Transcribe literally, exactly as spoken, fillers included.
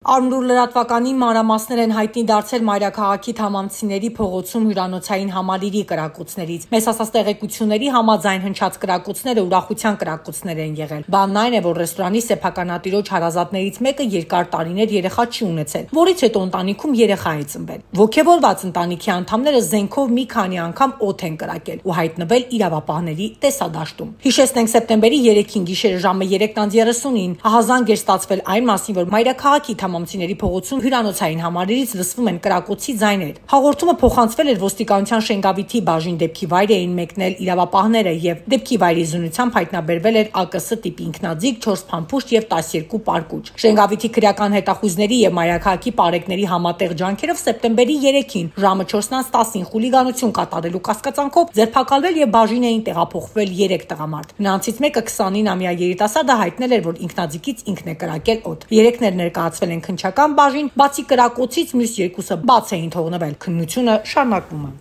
Արմնուր լրատվականի մանրամասներ են հայտնի դարձել մայրաքաղաքի Թամամցիների փողոցում հյուրանոցային համալիրի կրակոցներից։ Մեզ հասած տեղեկությունների համաձայն հնչած կրակոցները ուրախության կրակոցներ են եղել։ Բանն այն է, որ ռեստորանի սեփականատիրոջ հարազատներից մեկը երկար տարիներ երեխա չի ունեցել, որից հետո ընտանիքում երեխա է ծնվել։ Ոգևորված ընտանիքի անդամները զենքով մի քանի անգամ օդ են կրակել ու հայտնվել իրավապահների տեսադաշտում։ Հիշեցնենք, սեպտեմբերի երեքին գիշերը ժամը երեքն երեսունին ահազանգ էր ստացվել այն մասին, որ մայրաքաղաքի Թամամցիների փողոցում հյուրանոցային համալիրից լսվում են կրակոցի ձայներ։ Հաղորդումը փոխանցվել էր ոստիկանության Շենգավիթի բաժին, դեպքի վայր էին մեկնել իրավապահները եւ դեպքի վայրի զինությամբ հայտնաբերվել էր ԱԿՍ տիպի ինքնաձիգ, չորս փամփուշտ եւ տասներկու պարկուճ։ Շենգավիթի քրեական հետախույզների եւ մայրաքաղաքի պարեկների համատեղ ջանքերով սեպտեմբերի երեքին ժամը չորսն տասին խուլիգանություն կատարելու կասկածանքով ձերբակալվել եւ բաժին էին տեղափոխվել երեք տղամարդ։ Նրանցից մեկը քսանինամյա երիտասարդը հայտնել էր, որ ինքնաձիգից ինքն է կրակել օդ։ Երեքներ ներկայացվել են քննչական բաժին, բացի կրակոցից մյուս երկուսը բաց էին թողնվել։ Քննությունը շարունակվում է։